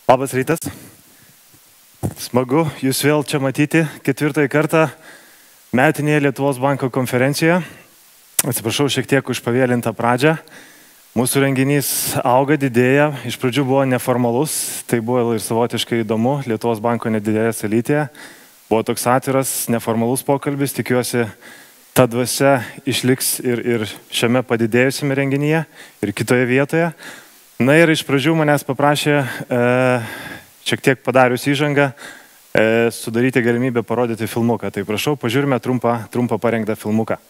Labas rytas. Smagu jūs vėl čia matyti 4 kartą metinėje Lietuvos banko konferencijoje. Atsiprašau šiek tiek už pavėlintą pradžią. Mūsų renginys auga, didėja. Iš pradžių buvo neformalus, tai buvo ir savotiškai įdomu. Lietuvos banko nedidelėje salytėje. Buvo toks atviras, neformalus pokalbis. Tikiuosi, ta dvasia išliks ir šiame padidėjusiame renginyje ir kitoje vietoje. Na ir iš pradžių manęs paprašė, šiek tiek padarius įžangą, sudaryti galimybę parodyti filmuką. Tai prašau, pažiūrime trumpą parengtą filmuką.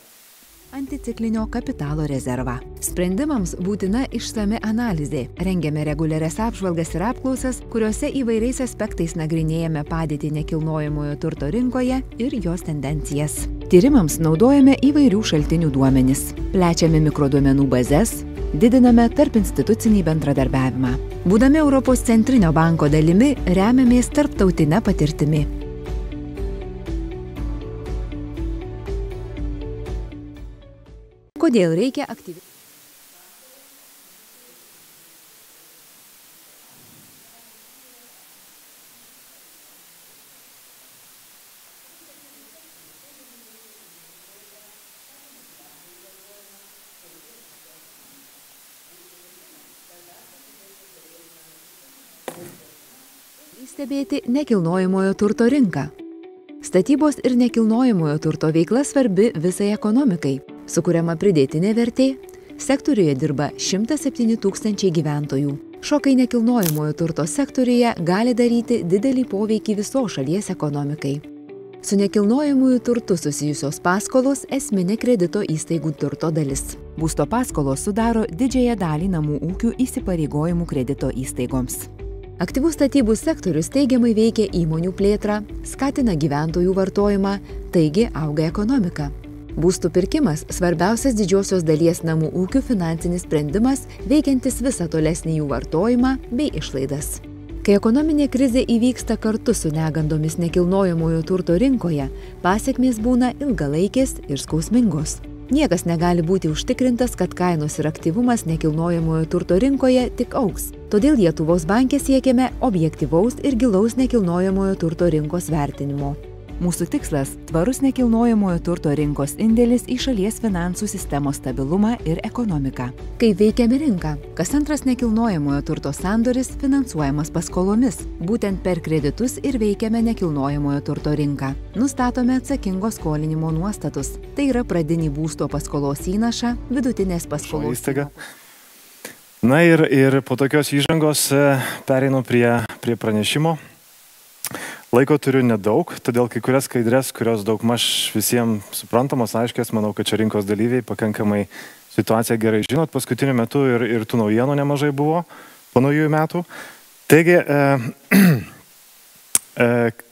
Anticiklinio kapitalo rezervą. Sprendimams būtina išsami analizė. Rengiame reguliarias apžvalgas ir apklausas, kuriuose įvairiais aspektais nagrinėjame padėtį nekilnojamojo turto rinkoje ir jos tendencijas. Tyrimams naudojame įvairių šaltinių duomenis. Plečiame mikroduomenų bazes, didiname tarp institucinį bendradarbiavimą. Būdami Europos centrinio banko dalimi, remiamės tarptautinę patirtimi. Kodėl reikia aktyviai? Stebėti nekilnojamojo turto rinką. Statybos ir nekilnojamojo turto veikla svarbi visai ekonomikai. Sukuriama pridėtinė vertė, sektoriuje dirba 107 000 gyventojų. Šokai nekilnojamojo turto sektoriuje gali daryti didelį poveikį visos šalies ekonomikai. Su nekilnojamųjų turtu susijusios paskolos esminė kredito įstaigų turto dalis. Būsto paskolos sudaro didžiąją dalį namų ūkių įsipareigojimų kredito įstaigoms. Aktyvus statybų sektorius teigiamai veikia įmonių plėtrą, skatina gyventojų vartojimą, taigi auga ekonomika. Būstų pirkimas – svarbiausias didžiosios dalies namų ūkių finansinis sprendimas, veikiantis visą tolesnį jų vartojimą bei išlaidas. Kai ekonominė krizė įvyksta kartu su negandomis nekilnojamojo turto rinkoje, pasekmės būna ilgalaikės ir skausmingos. Niekas negali būti užtikrintas, kad kainos ir aktyvumas nekilnojamojo turto rinkoje tik augs. Todėl Lietuvos banke siekiame objektyvaus ir gilaus nekilnojamojo turto rinkos vertinimo. Mūsų tikslas – tvarus nekilnojamojo turto rinkos indėlis į šalies finansų sistemos stabilumą ir ekonomiką. Kaip veikiame rinką? Kas antras nekilnojamojo turto sandoris finansuojamas paskolomis. Būtent per kreditus ir veikiame nekilnojamojo turto rinką. Nustatome atsakingo skolinimo nuostatus. Tai yra pradinį būsto paskolos įnašą, vidutinės paskolos įnašą. Na ir po tokios įžangos pereinu prie pranešimo. Laiko turiu nedaug, todėl kai kurias skaidrės, kurios daugmaž visiems suprantamos, aiškios, manau, kad čia rinkos dalyviai pakankamai situaciją gerai žinot. Paskutiniu metu ir tų naujienų nemažai buvo po naujųjų metų. Taigi,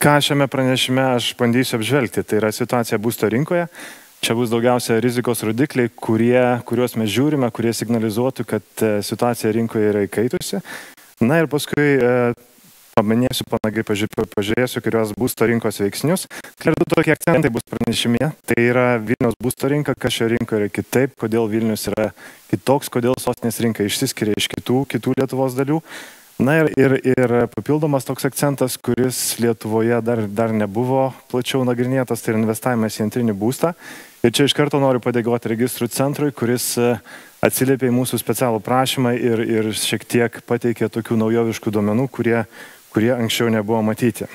ką šiame pranešime aš bandysiu apžvelgti, tai yra situacija būsto rinkoje. Čia bus daugiausia rizikos rodikliai, kuriuos mes žiūrime, kurie signalizuotų, kad situacija rinkoje yra įkaitusi. Na ir paskui paminėsiu, pažiūrėsiu, kurios būsto rinkos veiksnius. Ir du tokie akcentai bus pranešime. Tai yra Vilniaus būsto rinka, kas šio rinkoje yra kitaip, kodėl Vilnius yra kitoks, kodėl sostinės rinka išsiskiria iš kitų Lietuvos dalių. Na ir papildomas toks akcentas, kuris Lietuvoje dar nebuvo plačiau nagrinėtas, tai yra investavimas į antrinį būstą. Ir čia iš karto noriu padėkoti registrų centrui, kuris atsiliepė į mūsų specialų prašymą ir šiek tiek pateikė tokių naujoviškų duomenų, kurie anksčiau nebuvo matyti.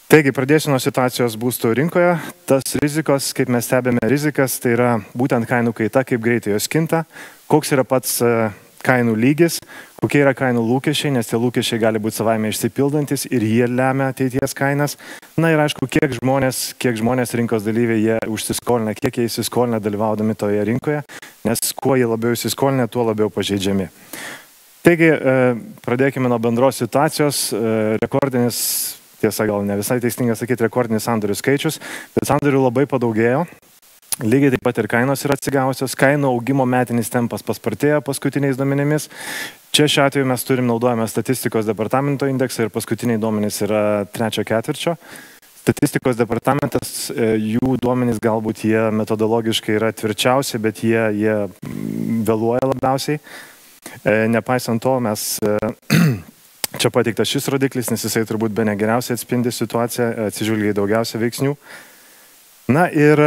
Taigi, pradėsiu nuo situacijos būsto rinkoje. Tas rizikos, kaip mes stebėme rizikas, tai yra būtent kainų kaita, kaip greitai jos kinta, koks yra pats kainų lygis, kokie yra kainų lūkesčiai, nes tie lūkesčiai gali būti savaime išsipildantis ir jie lemia ateities kainas. Na ir aišku, kiek žmonės rinkos dalyviai jie užsiskolina, kiek jie įsiskolina dalyvaudami toje rinkoje, nes kuo jie labiau įsiskolina, tuo labiau pažeidžiami. Taigi, pradėkime nuo bendros situacijos. Rekordinis, tiesa gal ne visai teisinga sakyti, rekordinis sandorių skaičius, bet sandorių labai padaugėjo. Lygiai taip pat ir kainos yra atsigavusios, kainų augimo metinis tempas paspartėjo paskutiniais duomenimis. Čia šiuo atveju mes naudojame statistikos departamento indeksą ir paskutiniai duomenys yra 3 ketvirčio. Statistikos departamentas, jų duomenys galbūt jie metodologiškai yra tvirčiausi, bet jie vėluoja labiausiai. Nepaisant to, mes čia pateiktas šis rodiklis, nes jisai turbūt be negeriausiai atspindi situaciją, atsižvelgia į daugiausia veiksnių. Na ir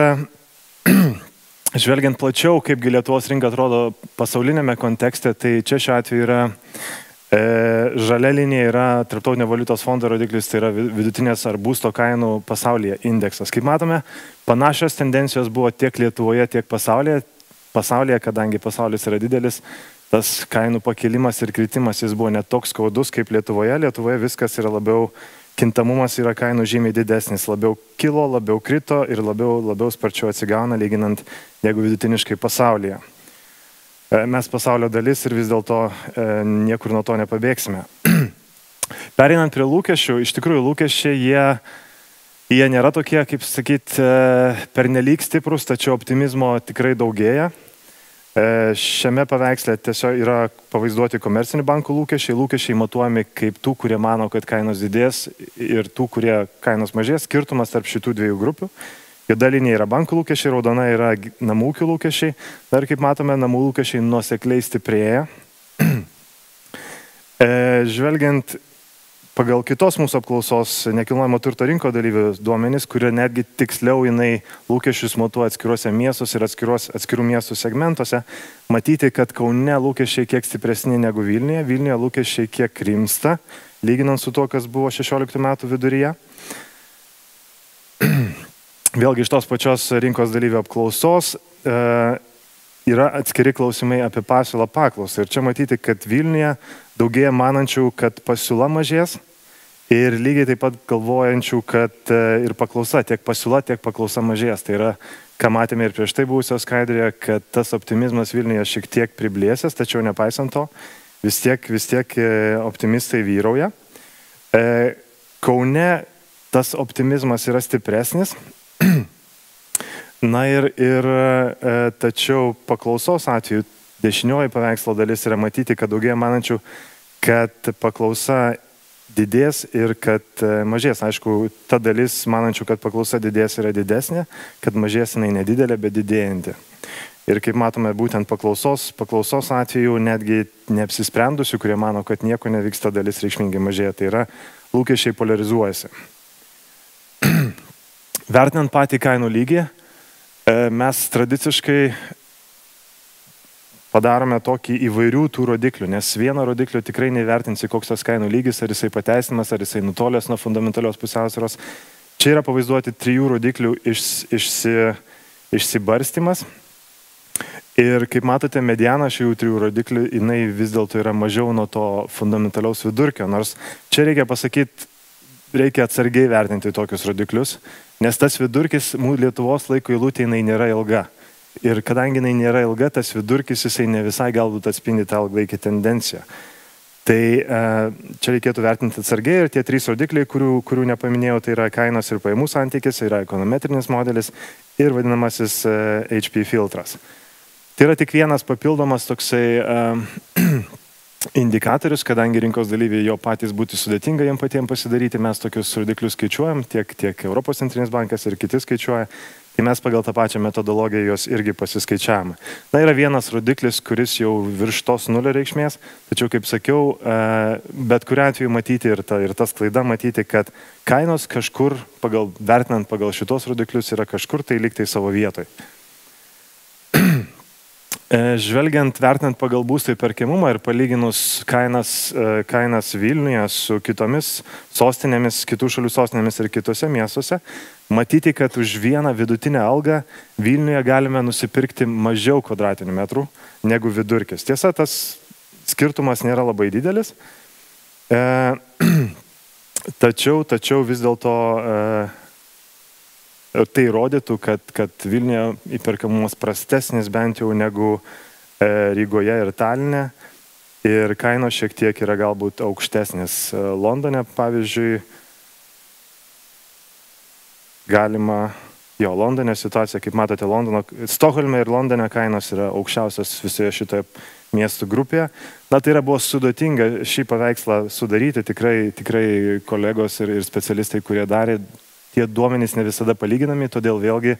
žvelgiant plačiau, kaipgi Lietuvos rinka atrodo pasaulinėme kontekste, tai čia šiuo atveju yra žalia linija yra Tarptautinio valiutos fondo rodiklis, tai yra vidutinės ar būsto kainų pasaulyje indeksas. Kaip matome, panašios tendencijos buvo tiek Lietuvoje, tiek pasaulyje. Pasaulyje, kadangi pasaulis yra didelis, tas kainų pakilimas ir kritimas jis buvo net toks skaudus kaip Lietuvoje. Lietuvoje viskas yra labiau, kintamumas yra kainų žymiai didesnis, labiau kilo, labiau krito ir labiau sparčiau atsigauna, lyginant jeigu vidutiniškai pasaulyje. Mes pasaulio dalis ir vis dėlto niekur nuo to nepabėgsime. Pereinant prie lūkesčių, iš tikrųjų lūkesčiai jie nėra tokie, kaip sakyti, pernelyg stiprus, tačiau optimizmo tikrai daugėja. Šiame paveiksle tiesiog yra pavaizduoti komercinių bankų lūkesčiai matuojami kaip tų, kurie mano, kad kainos didės ir tų, kurie kainos mažės, skirtumas tarp šitų dviejų grupių. Juoda linija yra bankų lūkesčiai, raudona yra namų ūkių lūkesčiai. Dar kaip matome, namų lūkesčiai nuosekliai stiprėja. Žvelgiant pagal kitos mūsų apklausos nekilnojamo turto rinko dalyvių duomenys, kurie netgi tiksliau jinai lūkesčius matuoja atskiruose miestuose ir atskirų miestų segmentuose, matyti, kad Kaune lūkesčiai kiek stipresni negu Vilniuje. Vilniuje lūkesčiai kiek rimsta, lyginant su to, kas buvo 16 metų viduryje. Vėlgi iš tos pačios rinkos dalyvių apklausos yra atskiri klausimai apie pasiūlą paklausą. Ir čia matyti, kad Vilniuje daugėja manančių, kad pasiūla mažės ir lygiai taip pat galvojančių, kad ir paklausa, tiek pasiūla, tiek paklausa mažės. Tai yra, ką matėme ir prieš tai buvusios skaidrėje, kad tas optimizmas Vilniuje šiek tiek priblėsęs, tačiau nepaisant to, vis tiek optimistai vyrauja. Kaune tas optimizmas yra stipresnis. Na ir tačiau paklausos atveju dešinioji paveikslo dalis yra matyti, kad daugėja manančių, kad paklausa didės ir kad mažės. Aišku, ta dalis manančių, kad paklausa didės yra didesnė, kad mažės jinai nedidelė, bet didėjanti. Ir kaip matome, būtent paklausos atveju netgi neapsisprendusių, kurie mano, kad nieko nevyksta, dalis reikšmingai mažėja. Tai yra, lūkesčiai polarizuojasi. Vertinant patį kainų lygį, mes tradiciškai padarome tokį įvairių tų rodiklių, nes vieno rodiklio tikrai nevertinsi, koks tas kainų lygis, ar jisai pateisinamas, ar jisai nutolęs nuo fundamentalios pusiausvyros. Čia yra pavaizduoti 3 rodiklių išsibarstymas. Ir kaip matote, mediana šių 3 rodiklių, jinai vis dėlto yra mažiau nuo to fundamentaliaus vidurkio, nors čia reikia pasakyti, reikia atsargiai vertinti tokius rodiklius, nes tas vidurkis Lietuvos laiko eilutė jinai nėra ilga. Ir kadangi jinai nėra ilga, tas vidurkis jisai ne visai galbūt atspindi tą ilgalaikį tendenciją. Tai čia reikėtų vertinti atsargiai ir tie 3 rodikliai, kurių nepaminėjau, tai yra kainos ir pajamų santykis, yra ekonometrinis modelis ir vadinamasis HP filtras. Tai yra tik vienas papildomas toksai indikatorius, kadangi rinkos dalyviai jo patys būtų sudėtinga jiem patiems pasidaryti, mes tokius rodiklius skaičiuojam, tiek Europos centrinis bankas ir kiti skaičiuoja, tai mes pagal tą pačią metodologiją jos irgi pasiskaičiavome. Na, yra vienas rodiklis, kuris jau virš tos nulio reikšmės, tačiau, kaip sakiau, bet kuriuo atveju matyti ir tas klaida matyti, kad kainos kažkur, vertinant pagal šitos rodiklius, yra kažkur tai liktai savo vietoj. Žvelgiant, vertinant pagal būsto įperkamumą ir palyginus kainas Vilniuje su kitomis sostinėmis, kitų šalių sostinėmis ir kitose miestuose, matyti, kad už vieną vidutinę algą Vilniuje galime nusipirkti mažiau kvadratinių metrų negu vidurkis. Tiesa, tas skirtumas nėra labai didelis, tačiau vis dėlto tai rodytų, kad Vilniuje įperkamumas prastesnis bent jau negu Rygoje ir Taline ir kainos šiek tiek yra galbūt aukštesnės. Londone, pavyzdžiui, Londone situacija, kaip matote, Stokholme ir Londone kainos yra aukščiausios visoje šitoje miestų grupėje. Na, tai buvo sudėtinga šį paveikslą sudaryti, tikrai kolegos ir specialistai, kurie darė, tie duomenys ne visada palyginami, todėl vėlgi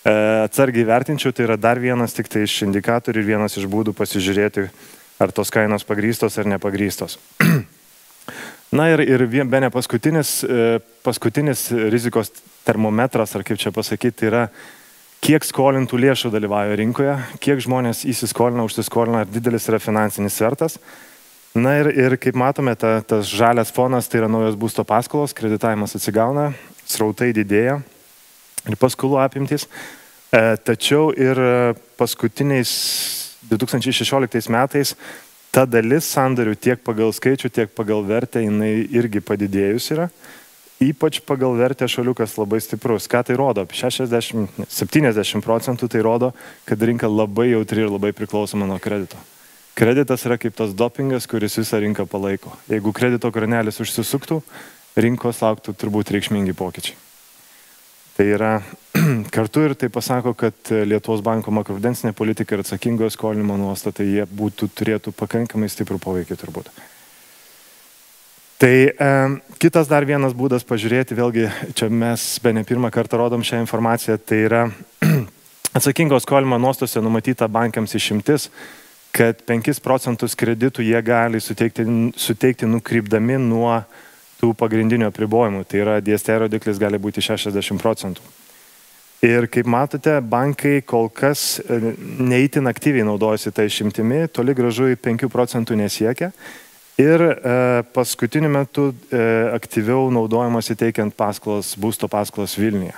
atsargiai vertinčiau, tai yra dar vienas tik tai iš indikatorių ir vienas iš būdų pasižiūrėti, ar tos kainos pagrįstos ar nepagrįstos. Na ir bene paskutinis rizikos termometras, ar kaip čia pasakyti, tai yra, kiek skolintų lėšų dalyvauja rinkoje, kiek žmonės įsiskolina, užsiskolina, ar didelis yra finansinis svertas. Na ir kaip matome, tas žalias fonas, tai yra naujos būsto paskolos, kreditavimas atsigauna, srautai didėja ir paskolų apimtys. Tačiau ir paskutiniais 2016 metais ta dalis sandarių tiek pagal skaičių, tiek pagal vertę, jinai irgi padidėjus yra. Ypač pagal vertę šaliukas labai stiprus. Ką tai rodo? 60-70% tai rodo, kad rinka labai jautri ir labai priklausoma nuo kredito. Kreditas yra kaip tas dopingas, kuris visą rinką palaiko. Jeigu kredito kranelis užsisuktų, rinkos lauktų turbūt reikšmingi pokyčiai. Tai yra kartu ir tai pasako, kad Lietuvos banko makroprudencinė politika ir atsakingojo skolinimo nuostatai jie turėtų pakankamai stiprų poveikį turbūt. Tai kitas dar vienas būdas pažiūrėti, vėlgi čia mes bene pirmą kartą rodom šią informaciją, tai yra atsakingojo skolinimo nuostose numatyta bankams išimtis, kad 5% kreditų jie gali suteikti nukrypdami nuo tų pagrindinių apribojimų. Tai yra DST rodiklis gali būti 60%. Ir kaip matote, bankai kol kas neįtin aktyviai naudojasi tą išimtimi, toli gražu į 5% nesiekia. Ir paskutiniu metu aktyviau naudojamasi teikiant paskolas, būsto paskolas Vilniuje.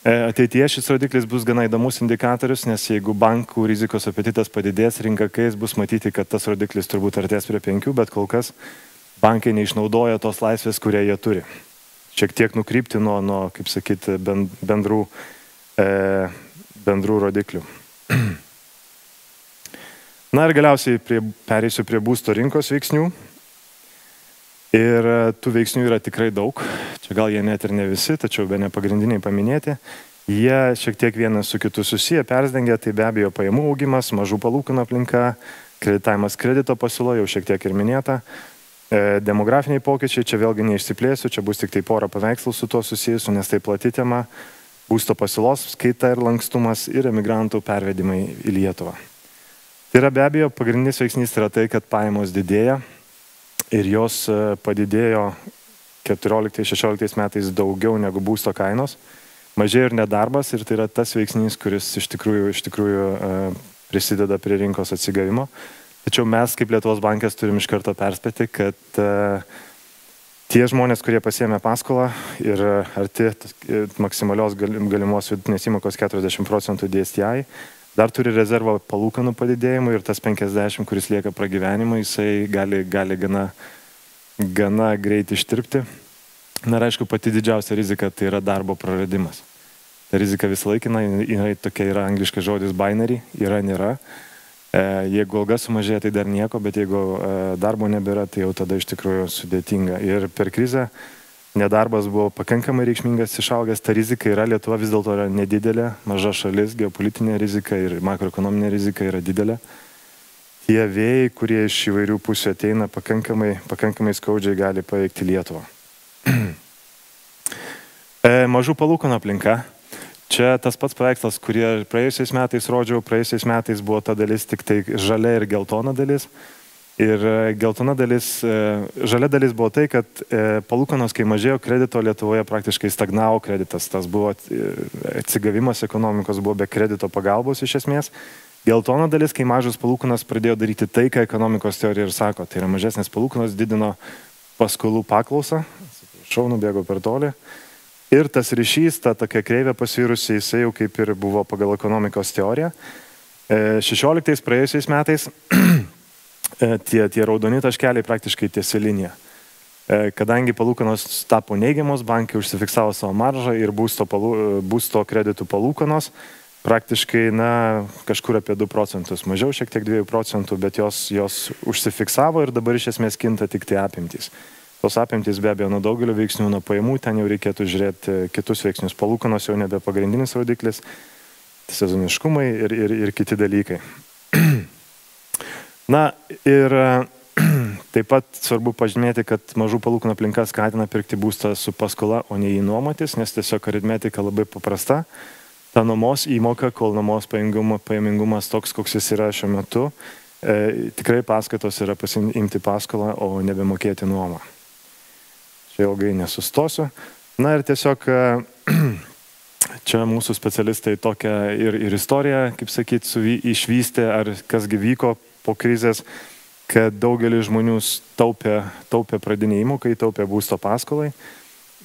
Ateityje šis rodiklis bus gana įdomus indikatorius, nes jeigu bankų rizikos apetitas padidės, rinka kais, bus matyti, kad tas rodiklis turbūt artės prie 5, bet kol kas bankai neišnaudoja tos laisvės, kurie jie turi. Šiek tiek nukrypti nuo kaip sakyti, bendrų rodiklių. Na ir galiausiai pereisiu prie būsto rinkos veiksnių. Ir tų veiksnių yra tikrai daug. Čia gal jie net ir ne visi, tačiau be ne pagrindiniai paminėti. Jie šiek tiek vienas su kitu susiję, persdengia, tai be abejo pajamų augimas, mažų palūkanų aplinka, kreditavimas kredito pasiūlo, jau šiek tiek ir minėta. Demografiniai pokyčiai, čia vėlgi neišsiplėsiu, čia bus tik tai porą paveikslų su tuo susijusiu, nes tai plati tema, būsto pasiūlos skaita ir lankstumas ir emigrantų pervedimai į Lietuvą. Tai yra be abejo pagrindinis veiksnys yra tai, kad pajamos didėja ir jos padidėjo 14-16 metais daugiau negu būsto kainos, mažėjo ir nedarbas ir tai yra tas veiksnys, kuris iš tikrųjų prisideda prie rinkos atsigavimo. Tačiau mes kaip Lietuvos bankas turim iš karto perspėti, kad tie žmonės, kurie pasiėmė paskolą ir arti maksimalios galimos vidutinės įmokos 40% DSTI, dar turi rezervą palūkanų padidėjimui ir tas 50, kuris lieka pragyvenimui, jisai gali gana greit ištirpti. Na ir aišku, pati didžiausia rizika tai yra darbo praradimas. Ta rizika visą laikiną, tokia yra angliškas žodis binary, yra, nėra. Jeigu alga sumažėja, tai dar nieko, bet jeigu darbo nebėra, tai jau tada iš tikrųjų sudėtinga. Ir per krizę nedarbas buvo pakankamai reikšmingas, išaugęs, ta rizika yra, Lietuva vis dėlto yra nedidelė, maža šalis, geopolitinė rizika ir makroekonominė rizika yra didelė. Tie vėjai, kurie iš įvairių pusių ateina, pakankamai skaudžiai gali paveikti Lietuvą. Mažų palūkanų aplinka. Čia tas pats paveikslas, kurį praėjusiais metais rodžiau, praėjusiais metais buvo ta dalis tik tai žalia ir geltona dalis. Ir žalia dalis buvo tai, kad palūkanos, kai mažėjo kredito, Lietuvoje praktiškai stagnavo kreditas. Tas buvo atsigavimas ekonomikos, buvo be kredito pagalbos iš esmės. Geltona dalis, kai mažos palūkanos pradėjo daryti tai, ką ekonomikos teorija ir sako. Tai yra mažesnės palūkanos didino paskolų paklausą. Atsiprašau, nubėgau per toli. Ir tas ryšys, ta tokia kreivė pasvirusi, jisai jau kaip ir buvo pagal ekonomikos teoriją. 16 praėjusiais metais tie raudoni taškeliai praktiškai tiesi linija. Kadangi palūkanos tapo neigiamos, bankai užsifiksavo savo maržą ir būsto kreditų palūkanos praktiškai kažkur apie 2%, mažiau šiek tiek 2%, bet jos užsifiksavo ir dabar iš esmės kinta tik tai apimtys. Tos apimtys be abejo nuo daugelio veiksnių, nuo pajamų, ten jau reikėtų žiūrėti kitus veiksnius. Palūkanos jau nebe pagrindinis rodiklis, sezoniškumai ir kiti dalykai. Na ir taip pat svarbu pažymėti, kad mažų palūkanų aplinka skatina pirkti būstą su paskola, o ne jį nuomotis, nes tiesiog aritmetika labai paprasta. Ta nuomos įmoka, kol nuomos pajamingumas toks, koks jis yra šiuo metu, tikrai paskatos yra pasiimti paskolą, o nebemokėti nuomą. čia ilgai nesustosiu. Na ir tiesiog čia mūsų specialistai tokią ir istoriją, kaip sakyti, išvystė, ar kasgi vyko po krizės, kad daugelis žmonių taupė pradinį įmoką, taupė būsto paskolai.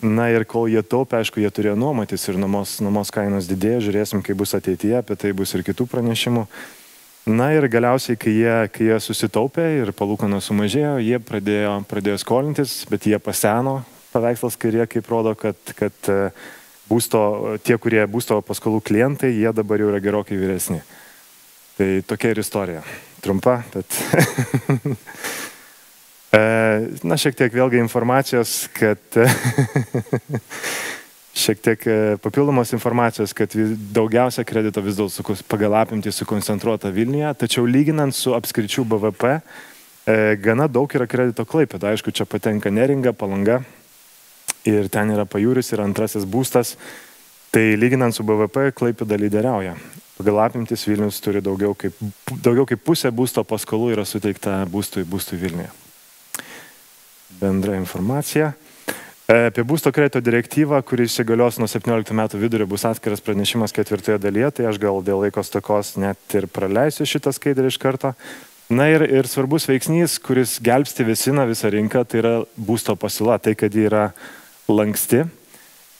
Na ir kol jie taupė, aišku, jie turėjo nuomotis ir nuomos kainos didėjo, žiūrėsim, kaip bus ateityje, apie tai bus ir kitų pranešimų. Na ir galiausiai, kai jie susitaupė ir palūkanos sumažėjo, jie pradėjo skolintis, bet jie paseno, paveikslas kairė, kaip rodo, kad tie, kurie būsto paskolų klientai, jie dabar jau yra gerokai vyresni. Tai tokia ir istorija. Trumpa, bet... Na, šiek tiek vėlgi informacijos, kad šiek tiek papildomos informacijos, kad daugiausia kredito vis dėlto pagal apimtį sukoncentruota Vilniuje, tačiau lyginant su apskričių BVP, gana daug yra kredito Klaipėda. Aišku, čia patenka Neringa, Palanga ir ten yra Pajūris ir antrasis būstas. Tai lyginant su BVP, Klaipėda lyderiauja. Pagal apimtis Vilnius turi daugiau kaip pusė būsto paskolų yra suteikta būstui Vilniuje. Bendra informacija. Apie būsto kredito direktyvą, kuris įsigalios nuo 17 metų vidurio, bus atskiras pranešimas 4 dalyje, tai aš gal dėl laiko stokos net ir praleisiu šitą skaidrį iš karto. Na ir svarbus veiksnys, kuris gelbsti visą rinką, tai yra būsto pasiūla, tai kad ji yra lanksti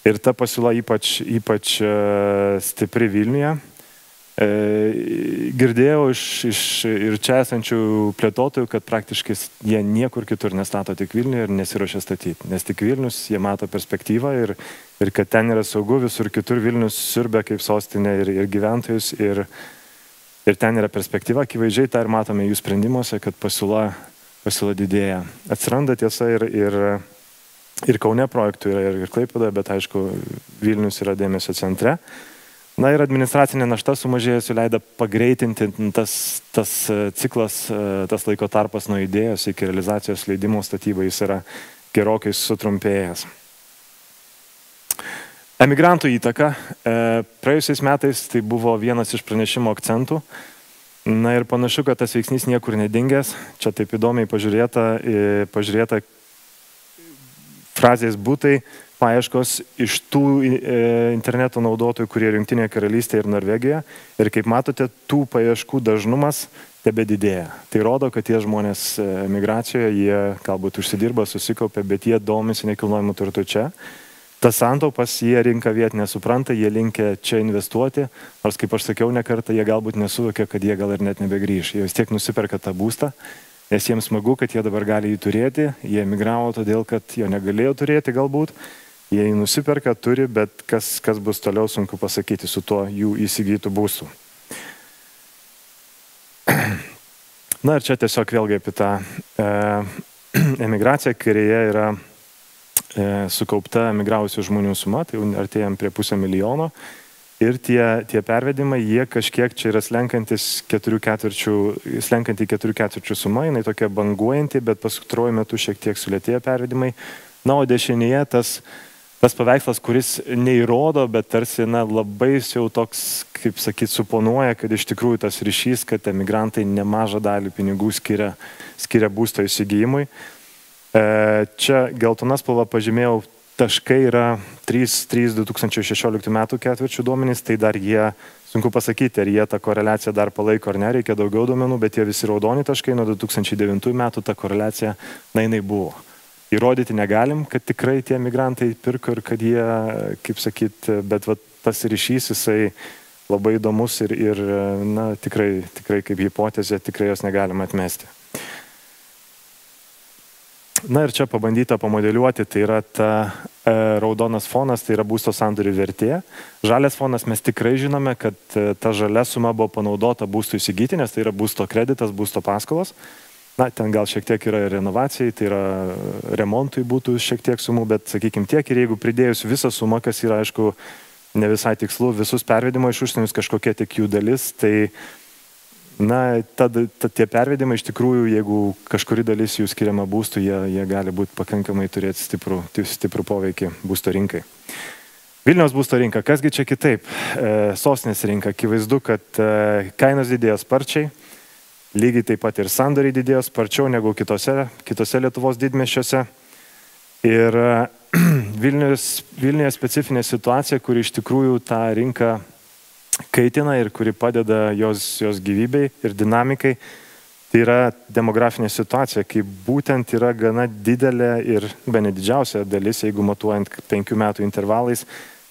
ir ta pasiūla ypač stipri Vilniuje. Girdėjau ir čia esančių plėtotojų, kad praktiškai jie niekur kitur nestato tik Vilniuje ir nesiruošia statyti. Nes tik Vilnius, jie mato perspektyvą ir kad ten yra saugu, visur kitur Vilnius siurbia kaip sostinė ir gyventojus ir ten yra perspektyva. Akivaizdžiai tą ir matome jų sprendimuose, kad pasiūla didėja. Atsiranda tiesa ir Kaune projektų yra ir Klaipėdoje, bet aišku, Vilnius yra dėmesio centre. Na ir administracinė našta sumažėjusi leido pagreitinti tas ciklas, tas laiko tarpas nuo idėjos iki realizacijos leidimo statybai jis yra gerokai sutrumpėjęs. Emigrantų įtaka. Praėjusiais metais tai buvo vienas iš pranešimo akcentų. Na ir panašu, kad tas veiksnys niekur nedingęs. Čia taip įdomiai pažiūrėta frazės būtai, paieškos iš tų interneto naudotojų, kurie yra Jungtinėje karalystėje ir Norvegijoje. Ir kaip matote, tų paieškų dažnumas tebedidėja. Tai rodo, kad tie žmonės emigracijoje, jie galbūt užsidirba, susikaupia, bet jie domisi nekilnojimu turtu čia. Tas santaupas jie rinka vietinė supranta, jie linkia čia investuoti, nors kaip aš sakiau ne kartą, jie galbūt nesuvokia, kad jie gal ir net nebegrįš. Jie vis tiek nusiperka tą būstą, nes jiems smagu, kad jie dabar gali jį turėti. Jie emigravo todėl, kad jo negalėjo turėti galbūt. Jie jį nusiperka, turi, bet kas bus toliau, sunku pasakyti su tuo jų įsigytų būstų. Na ir čia tiesiog vėlgi apie tą emigraciją, kairėje yra sukaupta emigravusių žmonių suma, tai artėjom prie 500 000. Ir tie pervedimai, jie kažkiek čia yra slenkanti 4/4 suma, jinai tokia banguojanti, bet paskutruoju metu šiek tiek sulėtėja pervedimai. Na, o dešinėje tas paveikslas, kuris neįrodo, bet tarsi labai jau toks, kaip sakyti, suponuoja, kad iš tikrųjų tas ryšys, kad emigrantai nemažą dalį pinigų skiria būsto įsigijimui. Čia geltona spalva pažymėjau, taškai yra 3 2016 metų ketvirčių duomenys, tai dar jie, sunku pasakyti, ar jie tą koreliaciją dar palaiko ar ne, reikia daugiau duomenų, bet jie visi raudoni taškai nuo 2009 metų ta koreliacija, jinai buvo. Įrodyti negalim, kad tikrai tie migrantai pirko ir kad jie, kaip sakyt, bet tas ryšys jisai labai įdomus ir na, tikrai kaip hipotezė, tikrai jos negalima atmesti. Na ir čia pabandyta pamodeliuoti, tai yra ta raudonas fonas, tai yra būsto sandorių vertė. Žalias fonas mes tikrai žinome, kad ta žalia suma buvo panaudota būstų įsigyti, nes tai yra būsto kreditas, būsto paskolos. Na, ten gal šiek tiek yra renovacijai, tai yra remontui būtų šiek tiek sumų, bet sakykime tiek ir jeigu pridėjus visą sumą, kas yra, aišku, ne visai tikslu, visus pervedimo iš užsienius kažkokia tik jų dalis, tai, na, tie pervedimai iš tikrųjų, jeigu kažkuri dalis jų skiriama būstų, jie gali būti pakankamai turėti stiprų poveikį būsto rinkai. Vilniaus būsto rinka, kasgi čia kitaip? Sostinės rinka, akivaizdu, kad kainos didėjo sparčiai. Lygiai taip pat ir sandoriai didėjo sparčiau negu kitose Lietuvos didmiesčiuose. Ir Vilniuje specifinė situacija, kuri iš tikrųjų tą rinką kaitina ir kuri padeda jos gyvybei ir dinamikai, tai yra demografinė situacija, kai būtent yra gana didelė ir bene didžiausia dalis, jeigu matuojant 5 metų intervalais,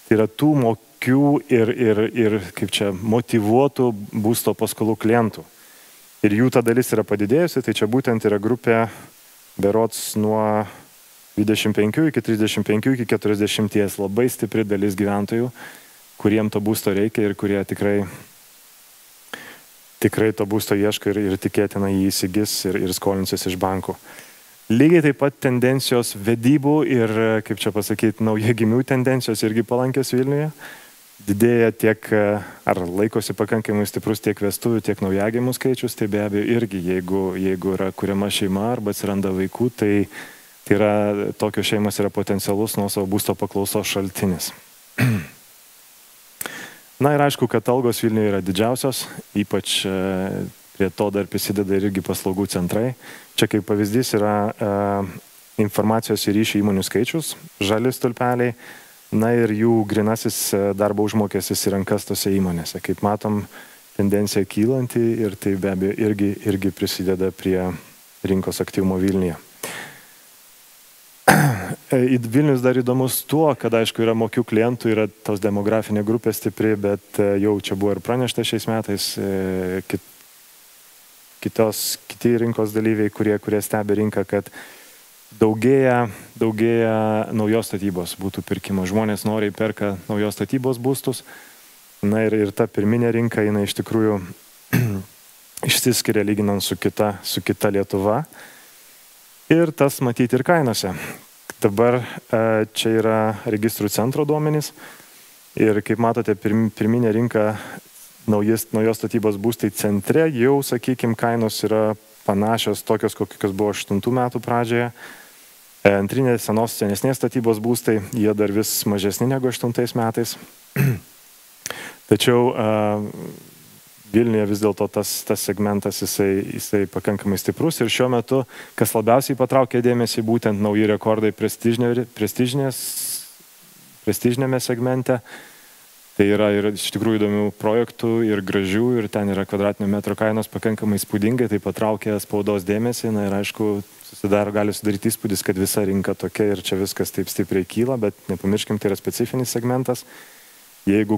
tai yra tų mokių ir kaip čia, motyvuotų būsto paskolų klientų. Ir jų ta dalis yra padidėjusi, tai čia būtent yra grupė berods nuo 25 iki 35 iki 40, labai stipri dalis gyventojų, kuriem to būsto reikia ir kurie tikrai to būsto ieško ir tikėtina jį įsigis ir skolinsis iš bankų. Lygiai taip pat tendencijos vedybų ir, kaip čia pasakyti, naujagimių tendencijos irgi palankios Vilniuje. Didėja tiek, ar laikosi pakankamai stiprus tiek vestuvių, tiek naujagimių skaičius, tai be abejo irgi, jeigu yra kuriama šeima arba atsiranda vaikų, tai yra, tokios šeimos yra potencialus nuosavo būsto paklausos šaltinis. Na ir aišku, kad algos Vilniuje yra didžiausios, ypač prie to dar prisideda irgi paslaugų centrai. Čia kaip pavyzdys yra informacijos ir ryšių įmonių skaičius, žali stulpeliai, na ir jų grinasis darbo užmokestis į rankas tose įmonėse. Kaip matom, tendencija kylanti ir tai be abejo irgi prisideda prie rinkos aktyvumo Vilniuje. Vilnius dar įdomus tuo, kad aišku yra mokių klientų, yra tos demografinė grupė stipri, bet jau čia buvo ir pranešta šiais metais kiti rinkos dalyviai, kurie stebi rinką, kad daugėja naujos statybos būtų pirkimo. Žmonės noriai perka naujos statybos būstus. Na ir ta pirminė rinka, jinai iš tikrųjų išsiskiria lyginant su kita Lietuva. Ir tas matyti ir kainose. Dabar čia yra registrų centro duomenys ir kaip matote, pirminė rinka naujos statybos būstai centre jau, sakykime, kainos yra panašios tokios, kokios buvo 8 metų pradžioje. Antrinės senesnės statybos būstai, jie dar vis mažesni negu 8 metais. Tačiau Vilniuje vis dėlto tas segmentas jisai pakankamai stiprus ir šiuo metu, kas labiausiai patraukė dėmesį, būtent nauji rekordai prestižinėme segmente. Tai yra ir iš tikrųjų įdomių projektų ir gražių ir ten yra kvadratinio metro kainos pakankamai spūdingai, tai patraukė spaudos dėmesį. Na ir aišku, gali sudaryti įspūdis, kad visa rinka tokia ir čia viskas taip stipriai kyla, bet nepamirškim, tai yra specifinis segmentas. Jeigu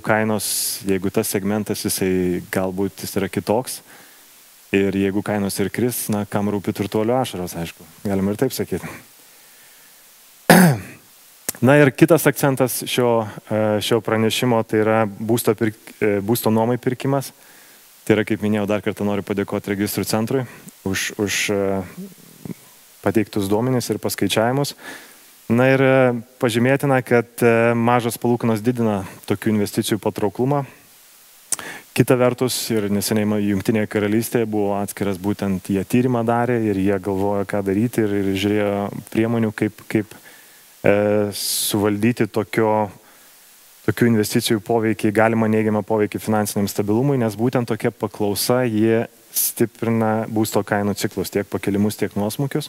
tas segmentas, galbūt jis yra kitoks ir jeigu kainos ir kris, na, kam rūpi turtuolio ašaros, aišku, galima ir taip sakyti. Na ir kitas akcentas šio pranešimo, tai yra būsto nuomai pirkimas. Tai yra, kaip minėjau, dar kartą noriu padėkoti registrų centrui už pateiktus duomenis ir paskaičiavimus. Na ir pažymėtina, kad mažas palūkanos didina tokių investicijų patrauklumą. Kita vertus, ir neseniai Jungtinėje karalystėje buvo atskiras būtent jie tyrimą darė ir jie galvojo, ką daryti ir žiūrėjo priemonių, kaip suvaldyti tokių investicijų poveikį, galima neigiamą poveikį finansiniam stabilumui, nes būtent tokia paklausa jie stiprina būsto kainų ciklus, tiek pakelimus, tiek nuosmukius.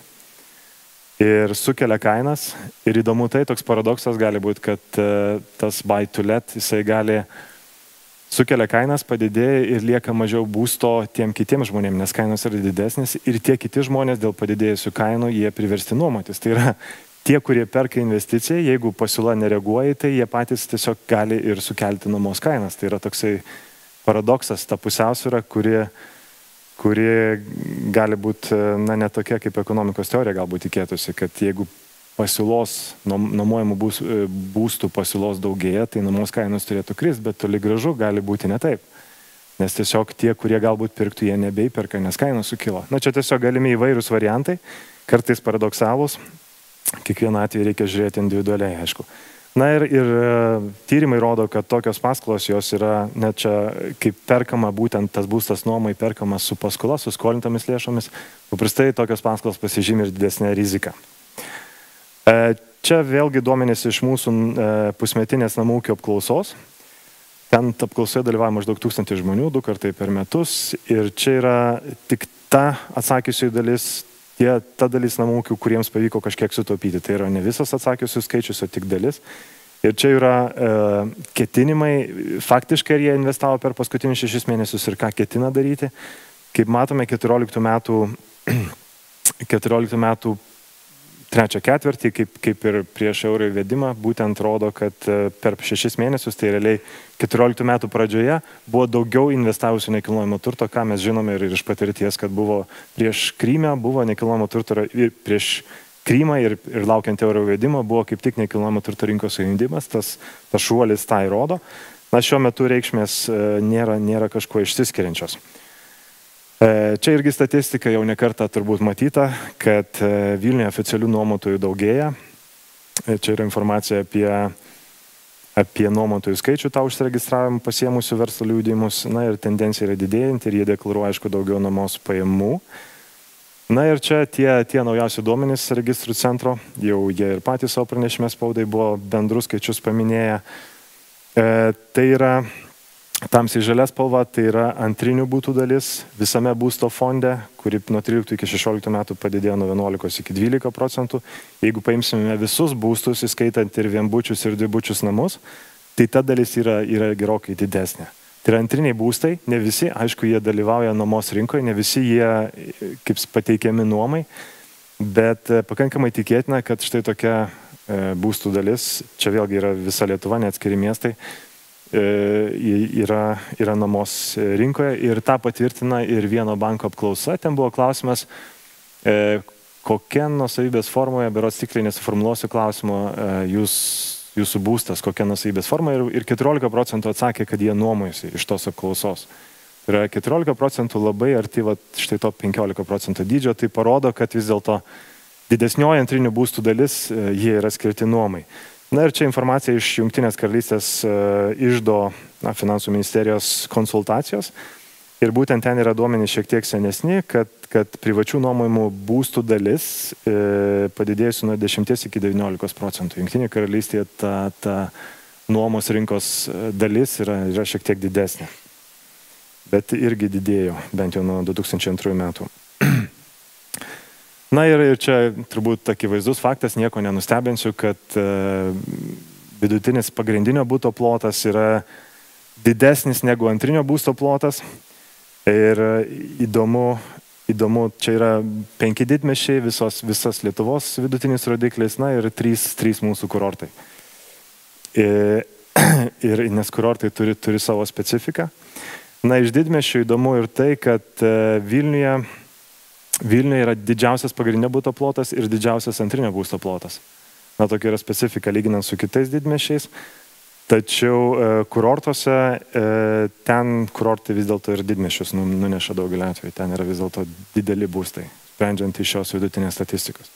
Ir sukelia kainas. Ir įdomu tai, toks paradoksas gali būti, kad tas buy to let, jisai gali sukelia kainas, padidėja ir lieka mažiau būsto tiem kitiems žmonėms, nes kainos yra didesnės ir tie kiti žmonės dėl padidėjusių kainų, jie priversti nuomotis. Tai yra tie, kurie perka investiciją, jeigu pasiūla nereaguoja, tai jie patys tiesiog gali ir sukelti nuomos kainas. Tai yra toksai paradoksas, ta pusiausvyra, kuri gali būti, na, ne tokia kaip ekonomikos teorija galbūt tikėtųsi, kad jeigu pasiūlos, nuomojamų būstų pasiūlos daugėja, tai nuomos kainos turėtų kristi, bet toli gražu gali būti ne taip. Nes tiesiog tie, kurie galbūt pirktų, jie nebeiperka, nes kainos sukilo. Na, čia tiesiog galimi įvairūs variantai, kartais paradoksalūs, kiekvieną atveju reikia žiūrėti individualiai, aišku. Na ir tyrimai rodo, kad tokios paskolos jos yra net čia, kaip perkama būtent tas būstas nuomai perkamas su paskola, su skolintomis lėšomis, paprastai tokios paskolos pasižymi ir didesnė rizika. Čia vėlgi duomenys iš mūsų pusmetinės namų ūkio apklausos. Ten apklausoje dalyvauja maždaug 1000 žmonių, 2 kartai per metus. Ir čia yra tik ta atsakysiųjų dalis, ta dalis namų ūkių, kuriems pavyko kažkiek sutaupyti. Tai yra ne visas atsakiusių skaičius, o tik dalis. Ir čia yra ketinimai, faktiškai jie investavo per paskutinius 6 mėnesius ir ką ketina daryti. Kaip matome, 14 metų trečią ketvirtį, kaip ir prieš euro įvedimą, būtent rodo, kad per 6 mėnesius, tai realiai 14 metų pradžioje, buvo daugiau investavusių nekilnojamo turto, ką mes žinome ir iš patirties, kad buvo prieš Krymę, buvo nekilnojamo turto ir prieš Krymą ir laukiant euro įvedimo, buvo kaip tik nekilnojamo turto rinkos sujungimas, tas šuolis tai rodo. Na, šiuo metu reikšmės nėra kažkuo išsiskiriančios. Čia irgi statistika jau nekartą turbūt matyta, kad Vilniuje oficialių nuomotojų daugėja. Čia yra informacija apie nuomotojų skaičių, tą užsiregistravimą pasiemusių verslo liudijimus. Na ir tendencija yra didėjanti ir jie deklaruoja, aišku, daugiau nuomos pajamų. Na ir čia tie naujausi duomenys registrų centro, jau jie ir patys savo pranešime spaudai buvo bendrus skaičius paminėję. Tai yra tamsiai žalia spalva, tai yra antrinių būtų dalis visame būsto fonde, kuri nuo 13 iki 16 metų padidėjo nuo 11 iki 12%. Jeigu paimsime visus būstus, įskaitant ir vienbučius ir dvibučius namus, tai ta dalis yra gerokai didesnė. Tai yra antriniai būstai, ne visi, aišku, jie dalyvauja nuomos rinkoje, ne visi jie kaip pateikiami nuomai, bet pakankamai tikėtina, kad štai tokia būstų dalis, čia vėlgi yra visa Lietuva, neatskiri miestai, yra nuomos rinkoje ir tą patvirtina ir vieno banko apklausa. Ten buvo klausimas, kokia nuosavybės formoje, berods tikrai nesuformuluosiu klausimo, jūsų būstas, kokia nuosavybės forma ir 14% atsakė, kad jie nuomojasi iš tos apklausos. Tai yra 14% labai arti štai to 15% dydžio, tai parodo, kad vis dėlto didesnioji antrinių būstų dalis jie yra skirti nuomai. Na ir čia informacija iš Jungtinės karalystės iždo finansų ministerijos konsultacijos. Ir būtent ten yra duomenys šiek tiek senesni, kad privačių nuomojimų būstų dalis padidėjusi nuo 10 iki 19%. Jungtinė karalystėje ta nuomos rinkos dalis yra šiek tiek didesnė. Bet irgi didėjo, bent jau nuo 2002 metų. Na ir čia turbūt akivaizdus faktas, nieko nenustebinsiu, kad vidutinis pagrindinio būsto plotas yra didesnis negu antrinio būsto plotas. Ir įdomu, čia yra 5 didmiesčiai, visas Lietuvos vidutinis rodiklis, na ir 3 mūsų kurortai. Nes kurortai turi savo specifiką. Na, iš didmiesčių įdomu ir tai, kad Vilniuje yra didžiausias pagrindinio būsto plotas ir didžiausias antrinio būsto plotas. Na, tokia yra specifika lyginant su kitais didmiesčiais. Tačiau kurortuose, ten kurortai vis dėlto ir didmiesčius nuneša daugelį atveju. Ten yra vis dėlto dideli būstai, sprendžiant iš šios vidutinės statistikos.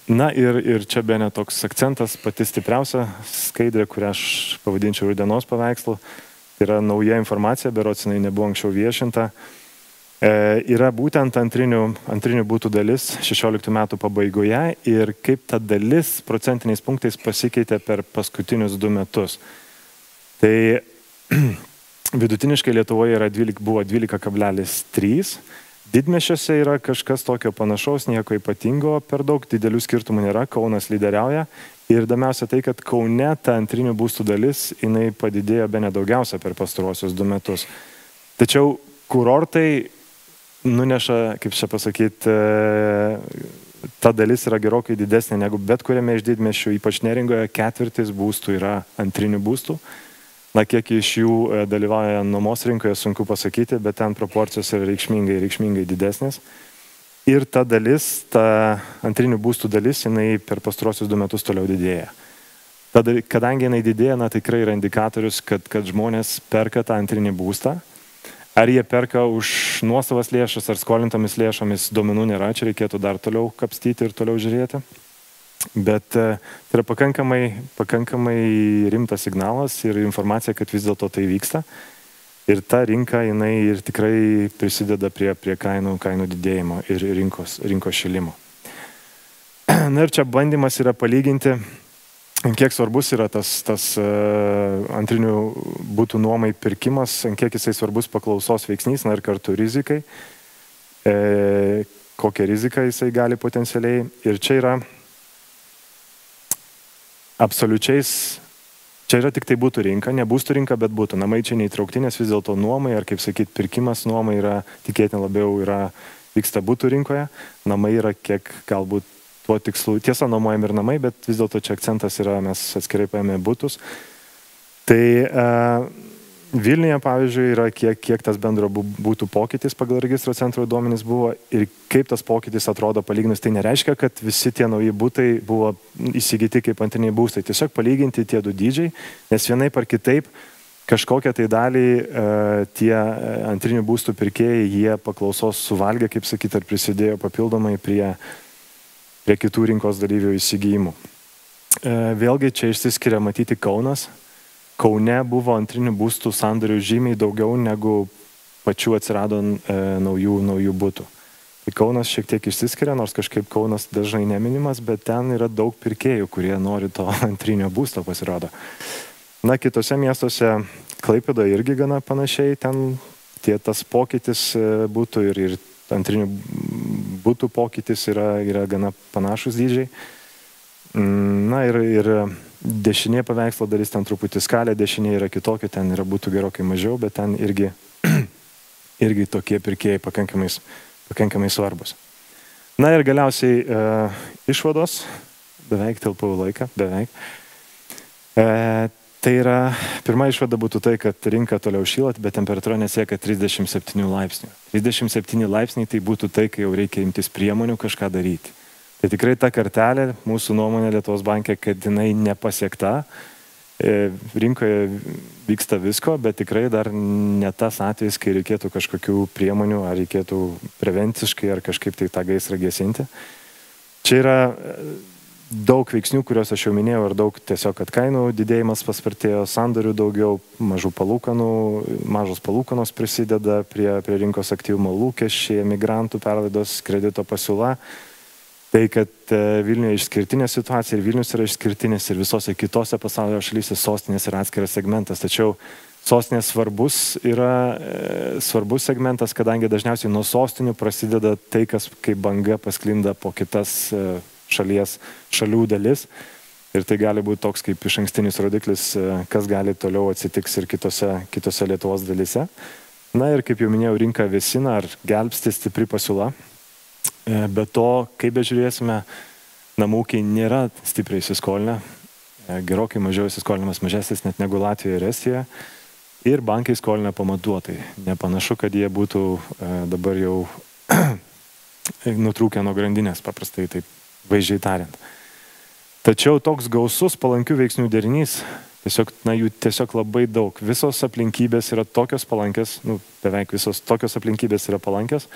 Na ir čia bene toks akcentas, pati stipriausia skaidrė, kurią aš pavadinčiau rudienos paveikslu. Tai yra nauja informacija, berods jinai nebuvo anksčiau viešinta. Yra būtent antrinių būtų dalis 16 metų pabaigoje ir kaip ta dalis procentiniais punktais pasikeitė per paskutinius 2 metus. Tai vidutiniškai Lietuvoje buvo 12,3. Didmiesčiuose yra kažkas tokio panašaus, nieko ypatingo, per daug didelių skirtumų nėra, Kaunas lyderiauja. Ir įdomiausia tai, kad Kaune ta antrinių būstų dalis, jinai padidėjo bene daugiausia per pastaruosius 2 metus. Tačiau kurortai nuneša, kaip čia pasakyti, ta dalis yra gerokai didesnė negu bet kuriame iš didmiesčių, ypač Neringoje 1/4 būstų yra antrinių būstų. Na, kiek iš jų dalyvauja nuomos rinkoje, sunku pasakyti, bet ten proporcijos yra reikšmingai didesnės. Ir ta dalis, ta antrinių būstų dalis, jinai per pastaruosius 2 metus toliau didėja. Kadangi jinai didėja, na, tikrai yra indikatorius, kad žmonės perka tą antrinį būstą. Ar jie perka už nuosavas lėšas ar skolintomis lėšomis, duomenų nėra, čia reikėtų dar toliau kapstyti ir toliau žiūrėti. Bet tai yra pakankamai rimtas signalas ir informacija, kad vis dėlto tai vyksta. Ir ta rinka, jinai ir tikrai prisideda prie kainų didėjimo ir rinkos šilimo. Na ir čia bandymas yra palyginti, kiek svarbus yra tas antrinių būtų nuomai pirkimas, kiek jisai svarbus paklausos veiksnys, na ir kartu rizikai. kokią riziką jisai gali potencialiai. Ir čia yra absoliučiais, čia yra tik tai būtų rinka, ne būstų rinka, bet būtų. Namai čia neįtraukti, nes vis dėlto nuomai, ar kaip sakyti, pirkimas nuomai yra, tikėtina labiau vyksta būtų rinkoje. Namai yra kiek galbūt tuo tikslu, tiesa, nuomojami ir namai, bet vis dėlto čia akcentas yra, mes atskirai paėmė būtus. Tai Vilniuje, pavyzdžiui, yra kiek tas bendro būtų pokytis pagal registro centro duomenys buvo ir kaip tas pokytis atrodo palyginus. Tai nereiškia, kad visi tie nauji būtai buvo įsigyti kaip antriniai būstai. Tiesiog palyginti tie du dydžiai, nes vienaip ar kitaip kažkokią tai dalį tie antrinių būstų pirkėjai, jie paklausos suvalgė, kaip sakyti, ar prisidėjo papildomai prie kitų rinkos dalyvių įsigijimų. Vėlgi čia išsiskiria matyti Kaunas. Kaune buvo antrinių būstų sandorių žymiai daugiau negu pačių atsirado naujų būtų. Tai Kaunas šiek tiek išsiskiria, nors kažkaip Kaunas dažnai neminimas, bet ten yra daug pirkėjų, kurie nori to antrinio būsto pasirodo. Na, kitose miestuose, Klaipėdoje irgi gana panašiai, ten tas pokytis būtų ir antrinių būtų pokytis yra gana panašus dydžiai. Na ir dešinė paveikslo dalis, ten truputį skalė, dešinė yra kitokia, ten būtų gerokai mažiau, bet ten irgi tokie pirkėjai pakankamai svarbus. Na ir galiausiai išvados, beveik tilpau laiką, beveik. Tai yra, pirma išvada būtų tai, kad rinka toliau šyla, bet temperatūra nesiekia 37 laipsnių. 37 laipsniai tai būtų tai, kai jau reikia imtis priemonių kažką daryti. Tai tikrai ta kartelė, mūsų nuomonė Lietuvos banke, kad jinai nepasiekta. Rinkoje vyksta visko, bet tikrai dar ne tas atvejis, kai reikėtų kažkokių priemonių, ar reikėtų prevenciškai, ar kažkaip tai tą gaisrą gesinti. Čia yra daug veiksnių, kuriuos aš jau minėjau, ir daug tiesiog, kad kainų didėjimas paspartėjo, sandorių daugiau, mažos palūkanos prisideda prie rinkos aktyvumo, lūkesčiai, emigrantų perlaidos, kredito pasiūla. Tai, kad Vilniuje išskirtinė situacija ir Vilnius yra išskirtinis ir visose kitose pasaulio šalyse sostinės yra atskiras segmentas. Tačiau sostinės svarbus segmentas, kadangi dažniausiai nuo sostinių prasideda tai, kas kaip banga pasklinda po kitas šalių dalis. Ir tai gali būti toks kaip išankstinis rodiklis, kas gali toliau atsitiks ir kitose Lietuvos dalyse. Na ir kaip jau minėjau, rinka vėsina ar gelbsti stipri pasiūla. Be to, kaip bežiūrėsime, namų ūkiai nėra stipriai įsiskolinę, gerokai mažiau įsiskolinimas mažesnis net negu Latvijoje ir Estijoje, ir bankai skolina pamatuotai. Nepanašu, kad jie būtų dabar jau nutrūkę nuo grandinės, paprastai taip vaizdžiai tariant. Tačiau toks gausus palankių veiksnių derinys, jų tiesiog labai daug. Visos aplinkybės yra tokios palankios, beveik visos tokios aplinkybės yra palankios,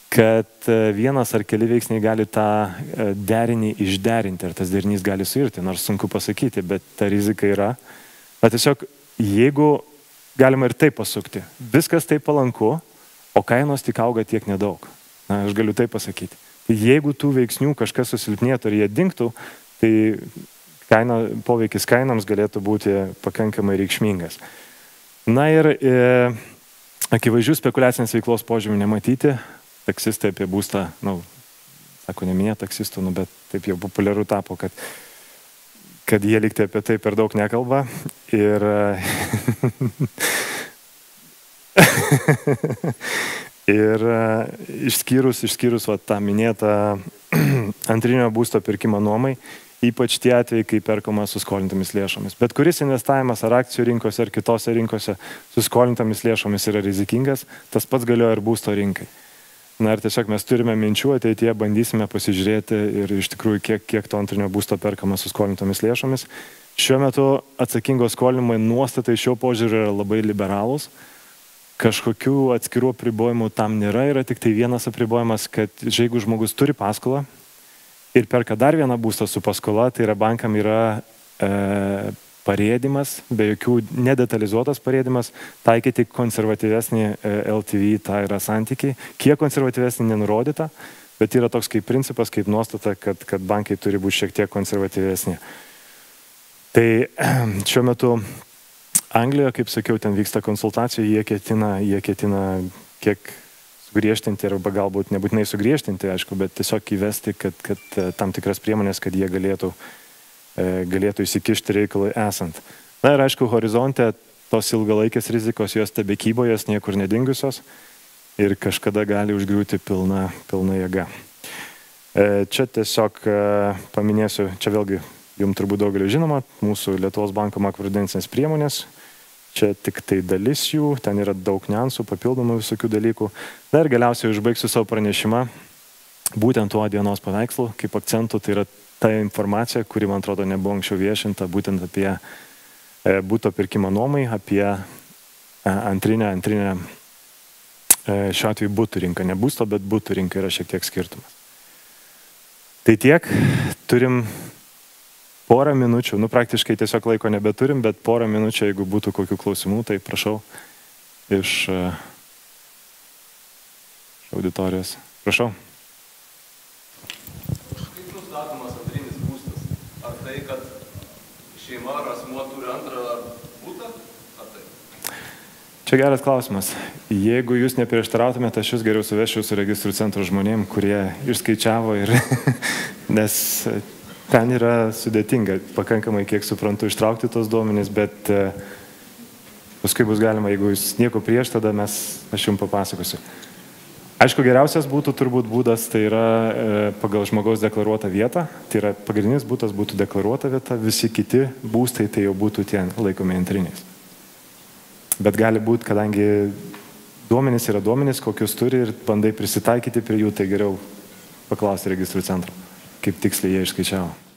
kad vienas ar keli veiksniai gali tą derinį išderinti, ar tas derinys gali suirti, nors sunku pasakyti, bet ta rizika yra. Bet tiesiog, jeigu galima ir taip pasukti, viskas taip palanku, o kainos tik auga tiek nedaug. Na, aš galiu taip pasakyti. Jeigu tų veiksnių kažkas susilpnėtų ir jie dingtų, tai poveikis kainoms galėtų būti pakankamai reikšmingas. Na ir akivaizdžių spekuliacinės veiklos požymių nematyti. Taksistai apie būstą, sako, neminė taksistų, bet taip jau populiaru tapo, kad jie liktai apie tai per daug nekalba. Ir išskyrus tą minėtą antrinio būsto pirkimą nuomai, ypač tie atvejai, kai perkama su skolintomis lėšomis. Bet kuris investavimas ar akcijų rinkose, ar kitose rinkose su skolintomis lėšomis yra rizikingas, tas pats galioja ir būsto rinkai. Na ir tiesiog mes turime minčių, ateityje bandysime pasižiūrėti ir iš tikrųjų kiek to antrinio būsto perkama su skolintomis lėšomis. Šiuo metu atsakingo skolinimo nuostatai šio požiūrio yra labai liberalūs. Kažkokių atskirų apribojimų tam nėra, yra tik tai vienas apribojimas, kad jeigu žmogus turi paskolą ir perka dar vieną būstą su paskola, tai yra bankam yra parėdimas, be jokių nedetalizuotas parėdimas, taikyti konservatyvesnį LTV, tai yra santykiai. Kiek konservatyvesnį nenurodyta, bet yra toks kaip principas, kaip nuostata, kad bankai turi būti šiek tiek konservatyvesni. Tai šiuo metu Anglijoje, kaip sakiau, ten vyksta konsultacijų, jie ketina kiek sugriežtinti arba galbūt nebūtinai sugriežtinti, aišku, bet tiesiog įvesti, kad tam tikras priemonės, kad jie galėtų įsikišti reikalui esant. Na ir aišku, horizonte tos ilgalaikės rizikos jos tebekybo, jos niekur nedingusios ir kažkada gali užgriūti pilna jėga. Čia tiesiog paminėsiu, čia vėlgi jums turbūt daugelio žinoma, mūsų Lietuvos banko makroprudencinės priemonės. Čia tik tai dalis jų, ten yra daug niuansų, papildomų visokių dalykų. Na ir galiausiai užbaigsiu savo pranešimą būtent tuo dienos paveikslu, kaip akcentų, tai yra ta informacija, kuri, man atrodo, nebuvo anksčiau viešinta, būtent apie būto pirkimą nuomai, apie antrinę, šiuo atveju būtų rinka, ne būsto, bet būtų rinka yra šiek tiek skirtumas. Tai tiek, turim porą minučių, praktiškai tiesiog laiko nebeturim, bet porą minučių, jeigu būtų kokių klausimų, tai prašau iš auditorijos. Prašau. Kaip nustatomas antrinis būstas? Ar tai, kad šeima ar asmuo turi antrą būtą? Ar tai? Čia geras klausimas. Jeigu jūs neprieštarautumėte, aš jūs geriau suvešiu su registrų centro žmonėm, kurie išskaičiavo ir nes ten yra sudėtinga, pakankamai, kiek suprantu, ištraukti tos duomenys, bet paskui bus galima, jeigu jūs nieko prieš, tada aš jums papasakosiu. Aišku, geriausias būtų turbūt būdas, tai yra pagal žmogaus deklaruotą vietą, tai yra pagrindinis būtas būtų deklaruota vieta, visi kiti būstai tai jau būtų tie laikomi antriniais. Bet gali būti, kadangi duomenys yra duomenys, kokius turi ir bandai prisitaikyti prie jų, tai geriau paklausti registrų centro, kaip tiksliai jie išskaičiavo.